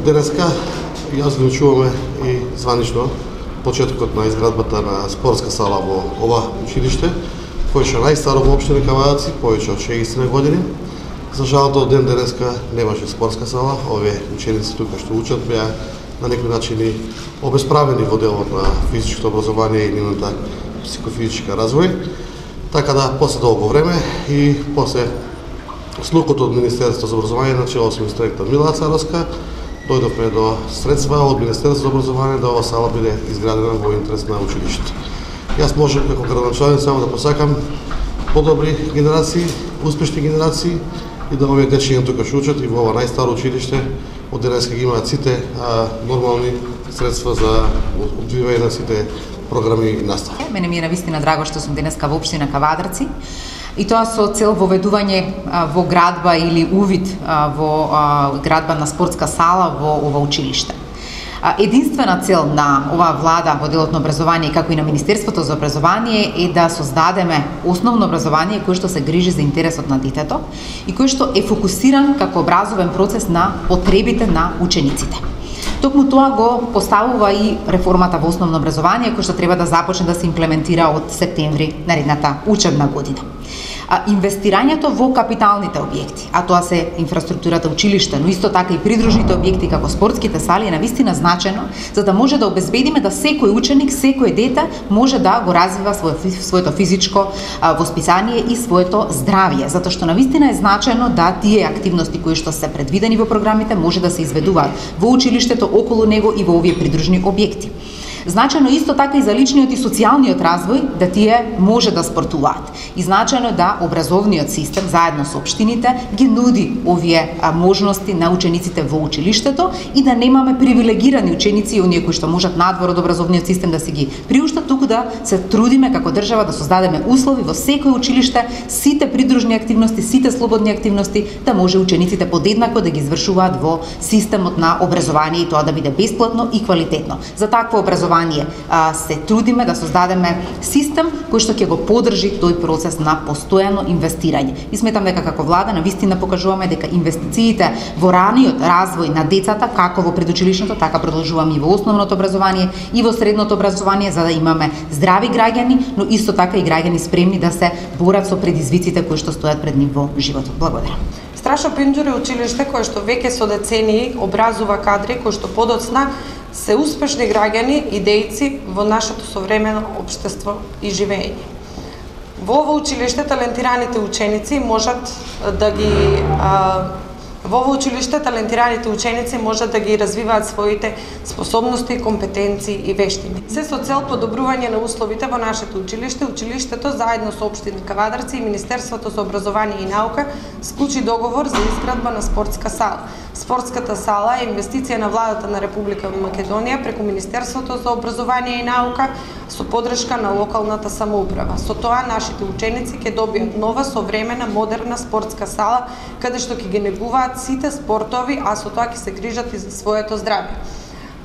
денеска јас одлучуваме и званично почетокот на изградбата на спортска сала во ова училиште, кој е најстаро во општина Кавадарци, повеќе од 60 години. За жал до ден денеска немаше спортска сала. Овие ученици тука што учат беа на некој начин и обесправени во делот на физичкото образование и нивната психофизичка развој. Така да, после долго време и после слукот од Министерството за образование на чело со министерката Мила Царовска, дојдовме до средства од Министерството за образование да ова сала биде изградена во интерес на училиштето. Јас можам како градоначалник само да посакам подобри генерации, успешни генерации и да овие дечиња тука што учат и во ова најстаро училиште од денеска ги имаат сите нормални средства за одвивање на сите програми и настава. Мене ми е навистина драго што сум денеска во општина Кавадарци и тоа со цел воведување во градба или увид во градба на спортска сала во ова училиште. Единствена цел на оваа влада во делот на образование, како и на Министерството за образование, е да создадеме основно образование кое што се грижи за интересот на детето и кое што е фокусиран како образовен процес на потребите на учениците. Токму тоа го поставува и реформата во основно образование, која што треба да започне да се имплементира од септември наредната учебна година. Инвестирањето во капиталните објекти, а тоа се инфраструктурата училиште, но исто така и придружните објекти како спортските сали е навистина значено за да може да обезбедиме да секој ученик, секој дете може да го развива своето физичко воспитание и своето здравје, затоа што навистина е значено да тие активности кои што се предвидени во програмите може да се изведуваат во училиштето, околу него и во овие придружни објекти. Значено исто така и за личниот и социјалниот развој да тие може да спортуваат. И значено да образовниот систем заедно со општините ги нуди овие можности на учениците во училиштето и да немаме привилегирани ученици и оние кои што можат надвор од образовниот систем да се ги приуштат, туку да се трудиме како држава да создадеме услови во секој училиште, сите придружни активности, сите слободни активности да може учениците подеднако да ги извршуваат во системот на образование и тоа да биде бесплатно и квалитетно. За такво образование се трудиме да создадеме систем кој што ќе го поддржи тој процес на постојано инвестирање. И сметам дека како влада навистина покажуваме дека инвестициите во раниот развој на децата, како во предучилишното, така продолжуваме и во основното образование и во средното образование за да имаме здрави граѓани, но исто така и граѓани спремни да се борат со предизвиците кои што стојат пред нив во животот. Благодарам. Страшо Пинџур е училиште кое што веќе со децении образува кадри кои што подоцна се успешни граѓани и дејци во нашето современо општество и живење. Во ова училиште талентираните ученици можат да ги развиваат своите способности, компетенции и вештини. Се со цел подобрување на условите во нашето училиште, училиштето заедно со општина Кавадарци и Министерството за образование и наука склучи договор за изградба на спортска сала. Спортската сала е инвестиција на владата на Република Македонија преку Министерството за образование и наука со поддршка на локалната самоуправа. Со тоа нашите ученици ќе добијат нова, современа, модерна спортска сала каде што ќе ги негуваат сите спортови, а со тоа ќе се грижат и за своето здравје.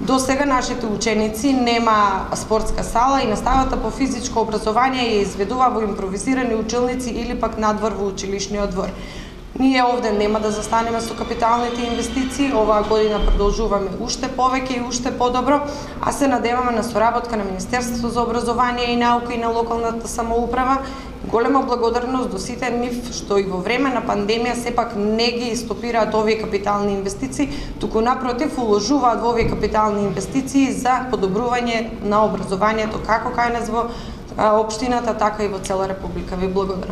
До сега нашите ученици нема спортска сала и наставата по физичко образование ја изведува во импровизирани училници или пак надвор во училишниот двор. Ние овде нема да застанеме со капиталните инвестиции, оваа година продолжуваме уште повеќе и уште подобро, а се надеваме на соработка на Министерството за образование и наука и на локалната самоуправа. Голема благодарност до сите нив што и во време на пандемија сепак не ги стопираат овие капитални инвестиции, туку напротив уложуваат во овие капитални инвестиции за подобрување на образованието како кај нас во општината, така и во цела Република. Ви благодарам.